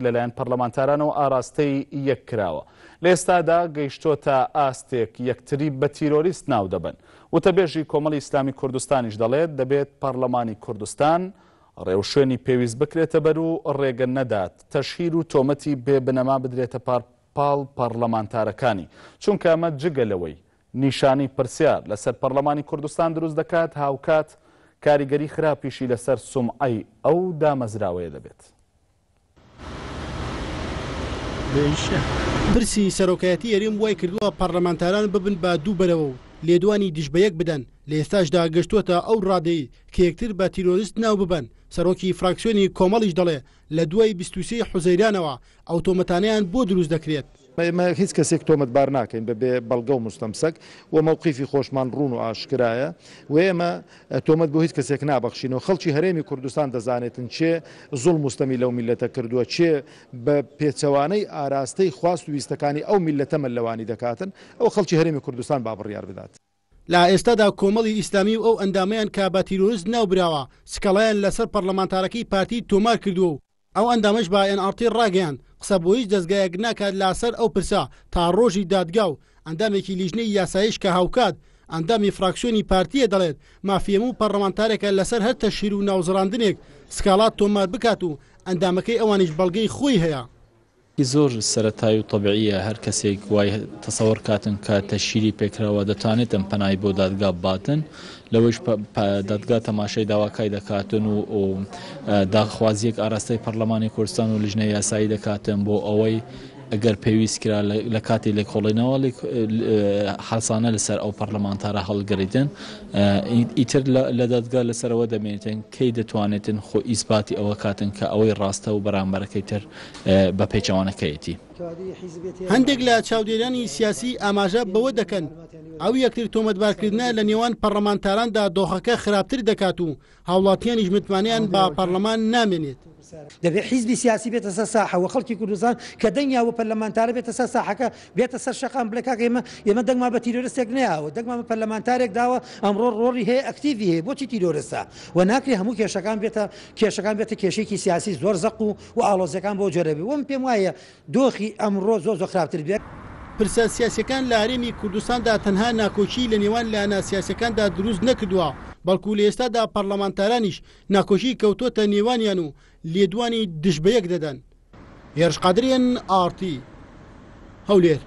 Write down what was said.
لەلایەن پەرلەمانتارانەوە ئاراستەی یەک کراوە، لە ئێستادا گەیشتۆتە ئاستێک یەکتری بە تیرۆریست ناودەبەن. وتەبێژی کۆمەڵی ئیسلامی کوردستانیش دەڵێت، دەبێت پەرلەمانی کوردستان ڕێوشوێنی پێویست بکرێتە بەر و ڕێگە نەدات تەشهیر و تۆمەتی بێ بنەما بدرێتە پاڵ پەرلەمانتارەکانی، چونکە ئەمە جگە لەوەی نیشانەی پرسیار لەسەر پەرلەمانی کوردستان دروست دەکات، هاوکات کاریگەری خراپیشی لەسەر سومعەی ئەو دامەزراوەیە دەبێت. پرسی سەرۆکایەتی هەرێم وای کردووە پەرلەمانتاران ببن بە دوو بەرەوە و لێدوانی دژ بە یەک بدەن، لە ئێستاشدا گەشتووەتە ئەو ڕادەی کە یەکتر بە تیرۆرست ناو ببەن، سەرۆکی فراکسیۆنی کۆمەڵیش دەڵێ لە دوای 23 حوزەیرانەوە ئەو تۆمەتانەیان بۆ دروست دەکرێت. ئێمە هیچ کەسێک تۆمەتبار ناکەین بە بێ بەڵگە و موستەمسەک و مەوقیفی خۆشمان ڕوون و ئاشکرایە و ئێمە تۆمەت بۆ هیچ کەسێک نابەخشین و خەڵکی هەرێمی کوردستان دەزانێتن کێ زوڵم و ستەمی لەو میللەتە کردووە، کێ بە پێچەوانەی ئاراستەی خواست و ویستەکانی ئەو میللەتە مەلەوانی دەکاتن، ئەوە خەڵکی هەرێمی کوردستان با بڕیار بدات. لە ئێستادا کۆمەڵی ئیسلامی و ئەو ئەندامەیان کە بە تیرۆرست ناوبراوە، سکاڵایان لەسەر پەڕلەمانتارەکەی پارتی تۆمار کردووە و ئەو ئەندامەش بە ئێن ئاڕ تی ڕاگەیاند، قسە بۆ هیچ دەزگایەک ناکات لاسەر ئەو پرسە تا ڕۆژی دادگا و ئەندامێکی لیژنەی یاسایش کە هاوکات ئەندامی فراکسیۆنی پارتییە دەڵێت، مافی هەموو پەڕلەمانتارێکە لەسەر هەر تەشهیر و ناوزڕاندنێک سکاڵا تۆمار بکات و ئەندامەکەی ئەوانیش بەڵگەی خۆی هەیە. زۆر سەرەتایی و تەبعییە هەر کەسێک وای تەسەوەر کاتن کە تەشهیری پێکراوە دەتوانێتن پەنای بۆ دادگا بباتن لەوەیش دادگا تەماشای داواکای دەکاتن و داخوازیەک ئاراستەی پەرلەمانی کوردستان و لیژنەی یاسایی دەکاتن بۆ ئەوەی ئەگەر پێویست کرا لە کاتی لێکۆڵینەوە حەسانە لەسەر ئەو پەرلەمانتارە هەڵگریتن ئیتر لە دادگا لەسەرەوە دەمێنێتن کەی دەتوانێتن خۆ ئیسباتی ئەوە کاتن کە ئەوەی ڕاستە و بەرامبەرەکەی تر بە پێچەوانەکەیەتی. هەندێک لە چاودێرانی سیاسی ئاماژە بەوە دەکەن، ئەو یەکتر تۆمەتبارکردنە لە نێوان پەڕلەمانتاراندا دۆخەکە خراپتر دەکات و هاوڵاتیانیش متمانەیان بە پەڕلەمان نامێنێت. دەبێت حیزبی سیاسی بێتە سەر ساحە و خەڵکی کوردستان کە دەنگیان بۆ پەرلەمانتارە بێتە سەر ساحەکە، بێتە سەر شەقام بڵێ کاکە ئێمە ئێمە دەنگمان بە تیرۆرستێک نەیاوە، دەنگمان بە پەرلەمانتارێک داوە ئەمڕۆ ڕۆڵی هەیە ئەکتیڤی هەیە، بۆچی تیرۆرستە؟ و ناکرێ هەموو کێشەکان بێتە کێشەکان بێتە کێشەیەکی سیاسی زۆر زەق و و ئاڵۆزیەکان بەو جۆرە بێ و من پێم وایە دۆخی ئەمڕۆ زۆر زۆر خراپتر بێت. پرسە سیاسیەکان لە هەرێمی کوردستاندا تەنها ناکۆکی لە نێوان لایەنە سیاسیەکاندا دروست نەکردووە، بەڵکو لە ئێستادا پەڕلەمانتارانیش ناکۆکی کەوتۆتە نێوانیان و لێدوانی دژ بەیەک دەدەن. هێرش قادر ئێن ئاڕ تی، هەولێر.